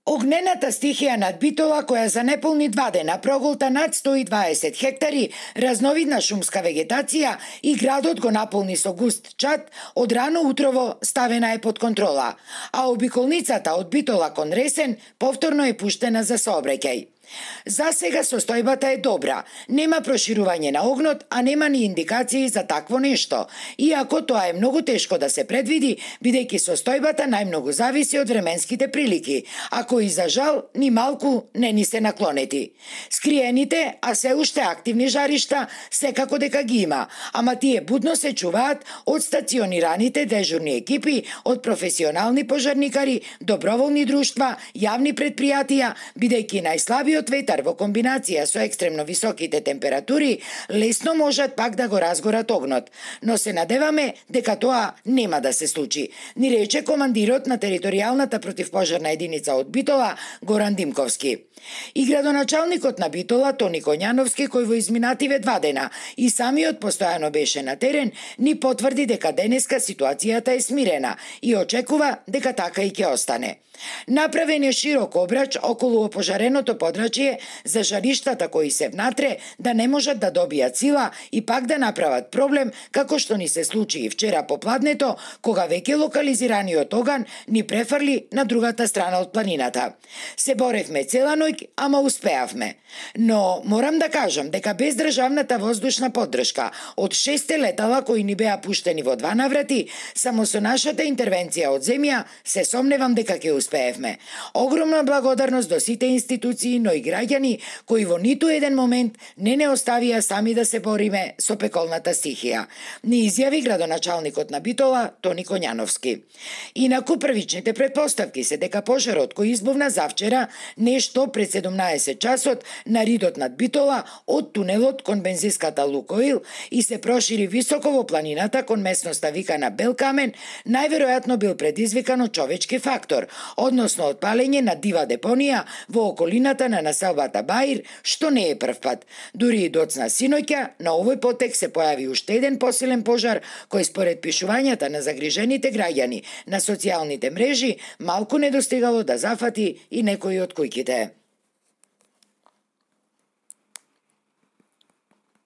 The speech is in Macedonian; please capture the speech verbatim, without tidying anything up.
Огнената стихија над Битола, која за неполни два дена проголта над сто и дваесет хектари разновидна шумска вегетација и градот го наполни со густ чад, од рано утрово ставена е под контрола, а обиколницата од Битола кон Ресен повторно е пуштена за сообраќај. За сега состојбата е добра, нема проширување на огнот, а нема ни индикации за такво нешто, иако тоа е многу тешко да се предвиди, бидејќи состојбата најмногу зависи од временските прилики, а кои за жал ни малку не ни се наклонети. Скриените, а се уште активни жаришта секако дека ги има, ама тие будно се чуваат од стационираните дежурни екипи, од професионални пожарникари, доброволни друштва, јавни предпријатија, бидејќи најслабиот ветар во комбинација со екстремно високите температури лесно можат пак да го разгорат огнот, но се надеваме дека тоа нема да се случи, ни рече командирот на територијалната противпожарна единица од Битола Горан Димковски. И градоначалникот на Битола Тони Коњановски, кој во изминативе два дена и самиот постојано беше на терен, ни потврди дека денеска ситуацијата е смирена и очекува дека така и ќе остане. Направен е широк обрач околу опожареното подрачје за жариштата кои се внатре да не можат да добијат сила и пак да направат проблем, како што ни се случи и вчера попладнето, кога веќе локализираниот оган ни префрли на другата страна од планината. Се боревме цела ноќ, ама успеавме. Но морам да кажам дека без државната воздушна поддршка од шесте летала кои ни беа пуштени во два наврати, само со нашата интервенција од земја, се сомневам дека ќе успеевме. Огромна благодарност до сите институции, но и граѓани кои во ниту еден момент не не оставија сами да се бориме со пеколната стихија, ни изјави градоначалникот на Битола Тони Коњановски. Инаку првичните претпоставки се дека пожарот кој избувна завчера нешто пред седумнаесет часот на ридот над Битола од тунелот кон бензинската Лукоил и се прошири високо во планината кон местноста викана Белкамен, најверојатно бил предизвикан од човечки фактор, односно од палење на дива депонија во околината на населбата Баир, што не е прв пат. Дури и доцна синоќа на овој потек се појави уште еден посилен пожар кој според пишувањата на загрижените граѓани на социјалните мрежи малку не достигало да зафати и некои од куќите.